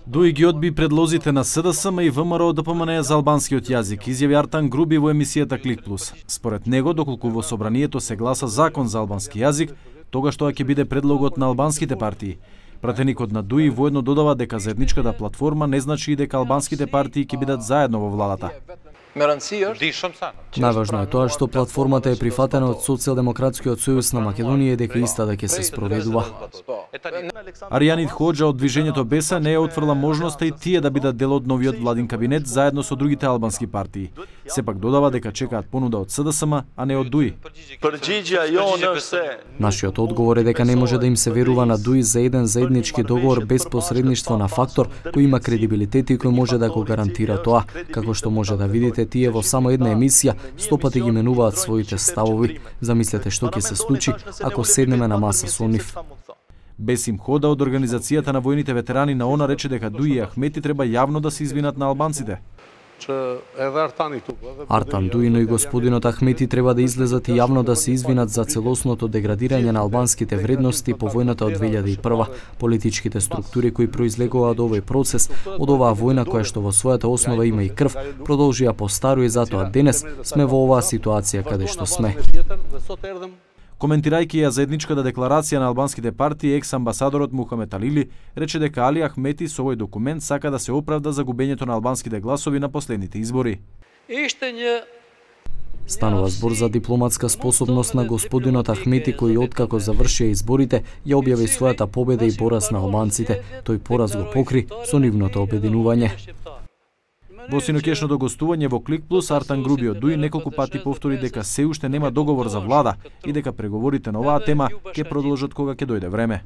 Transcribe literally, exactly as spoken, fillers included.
Дуи ги одби предлозите на СДСМ и ВМРО ДПМН за албанскиот јазик, изјави Артан Груби во емисијата Клик Плюс. Според него, доколку во собранието се гласа закон за албански јазик, тогаш тоа ќе биде предлогот на албанските партии. Пратеникот на Дуи воедно додава дека заедничката платформа не значи и дека албанските партии ќе бидат заедно во владата. Најважно е тоа што платформата е прифатена од Социјалдемократскиот сојуз на Македонија и дека истата ќе се спроведува. Аријанит Хоџа од движењето Беса не ја отфрла можноста и тие да бидат дел од новиот владин кабинет заедно со другите албански партии. Сепак додава дека чекаат понуда од СДСМ, а не од Дуи. Нашиот одговор е дека не може да им се верува на Дуи за еден заеднички договор без посредништво на фактор кој има кредибилитет и кој може да го гарантира тоа. Како што може да видите, тие во само една емисија стопати ги менуваат своите ставови. Замислете што ќе се случи ако седнеме на маса со нив. Бесим Хода од Организацијата на војните ветерани на ОНА рече дека Дуи и Ахмети треба јавно да се извинат на албанците. Артан Дуи, но и господинот Ахмети треба да излезат и јавно да се извинат за целосното деградирање на албанските вредности по војната од две илјади и прва. Политичките структури кои произлегува од овој процес, од оваа војна која што во својата основа има и крв, продолжија по старо и затоа денес сме во оваа ситуација каде што сме. Коментирајќи ја заедничката декларација на албанските партии, екс-амбасадорот Мухамед Алили рече дека Али Ахмети со овој документ сака да се оправда за губењето на албанските гласови на последните избори. Станува збор за дипломатска способност на господинот Ахмети кој откако завршија изборите ја објави својата победа и пораз на албанците. Тој пораз го покри со нивното обединување. Во синокешното гостување во Клик Плюс, Артан Груби од Дуи неколку пати повтори дека се уште нема договор за влада и дека преговорите на оваа тема ќе продолжат кога ќе дојде време.